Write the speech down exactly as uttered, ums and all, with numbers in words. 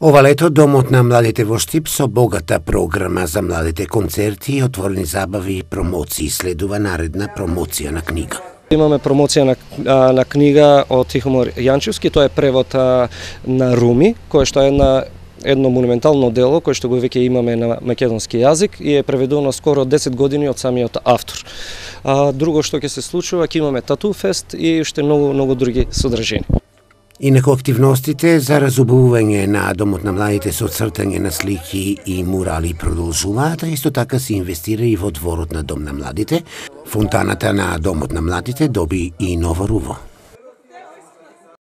Ова лето Домот на младите во Штип со богата програма за младите, концерти, отворени забави и промоции следува наредна промоција на книга. Имаме промоција на, на книга од Тихомир Јанчевски, тоа е превод на Руми, кој што е на едно монументално дело кој што го веќе имаме на македонски јазик и е преведено скоро десет години од самиот автор. А, друго што ќе се случува, ќе имаме Тату фест и уште многу многу други содржини. Инаку активностите за разубавување на Домот на младите со цртање на слики и мурали продолжуваат, а исто така се инвестира и во дворот на Дом на младите. Фонтаната на Домот на младите доби и ново руво.